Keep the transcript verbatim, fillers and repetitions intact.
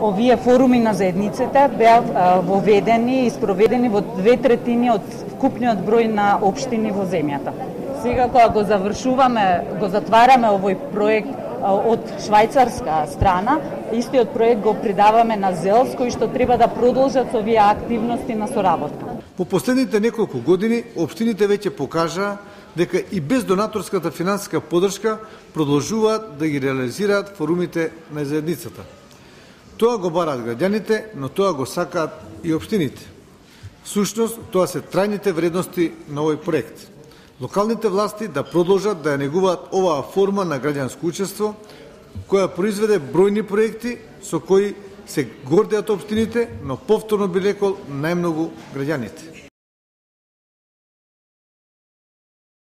овие форуми на заедниците беа воведени и спроведени во две третини од вкупниот број на општини во земјата. Сега кога го завршуваме, го затвараме овој проект од швајцарска страна, истиот проект го придаваме на ЗЕЛС, кои што треба да продолжат со овие активности на соработка. По последните неколку години, општините веќе покажаа дека и без донаторската финансиска поддршка продолжуваат да ги реализираат форумите на заедницата. Тоа го бараат граѓаните, но тоа го сакаат и општините. Всушност, тоа се трајните вредности на овој проект. Локалните власти да продолжат да ја негуваат оваа форма на граѓанско учество, која произведе бројни проекти со кои се гордеат општините, но повторно би рекол најмногу граѓаните.